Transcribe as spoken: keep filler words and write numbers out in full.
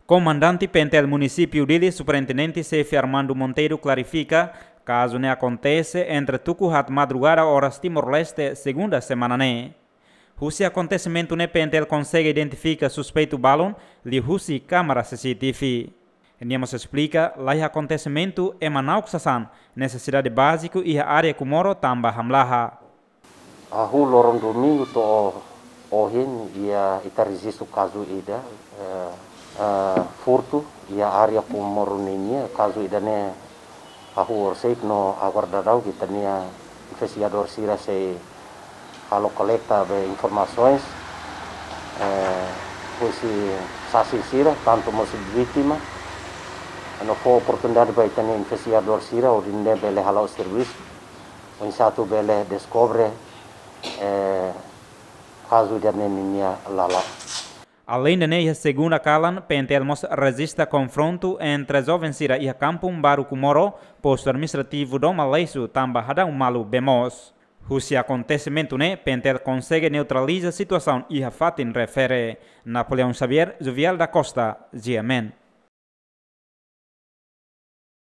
Komandante PNTL Munisípiu Dili, Superintendente Xefe Armando Monteiro, klarifika, kazu ne'e akontese entre tuku haat madrugada oras Timor-Leste, segunda semana ne'e. Husi akontesimentu ne'e PNTL konsege identifika suspeitu balun liuhusi kámara CCTV. Nia mós esplika, laiha akontesimentu ema na'ok sasán, nesesidade báziku iha área Comoro tanba hamlaha. Hahú loron domingu to'o ohin, iha ita rejistu kazu ida, eh, eh, furtu iha área Comoro ninia. Kazu ida-ne'e hahú orsida no agora daudaun ita-nia investigadór sira sei halo kolekta be informasaun, eh, husi saksi sira, tantu mós vítima, no fó oportunidade ba ita-nia investigadór sira hodi nune'e bele hala'o servisu, oinsá atu bele deskobre, eh, kazu ida-ne'e ninia lala. Aleinde ne'e, iha segunda kalan, PNTL mós rejista konfrontu entre joven sira iha Kampung Baru Comoro, postu administrativu Doma Leixo, tanba hadau malu bee moos. Husi akontesimentu ne'e, PNTL konsege neutraliza situasaun iha fatin refere. Napoleão Xavier, Jovial da Costa, GMN.